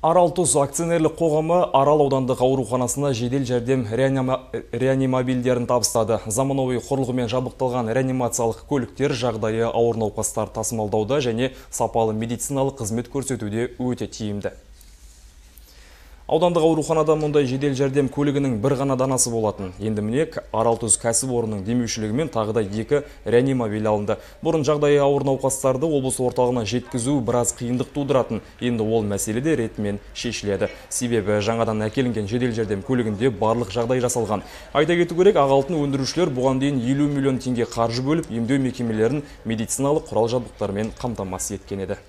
Арал Тұз акционерлік қоғамы Арал аудандық ауруханасына жедел жәрдем реанимобильдерін табыстады. Заманауи құрылғымен жабдықталған реанимациялық көліктер жағдайы ауыр науқастар тасымалдауда және сапалы медициналық қызмет көрсетуде өте тиімді. Аудандық ауруханада мұндай жедел жәрдем көлігінің бір ғана данасы болатын. Енді міне Арал Тұз кәсіпорнының демеушілігімен тағы да 2 реанимобиль алынды. Бұрын жағдайы ауыр науқастарды облыс орталығына жеткізу біраз қиындық тудыратын. Енді ол мәселе де ретімен шешіледі. Себебі жаңадан әкелінген жедел жәрдем көлігінде барлық жағдай жасалған. Айта кету керек, Ақ Алтын өндірушілер бұған дейін 50 миллион теңге қаржы бөліп, емдеу мекемелерін медициналық құрал жабдықтармен қамтамасыз еткен еді.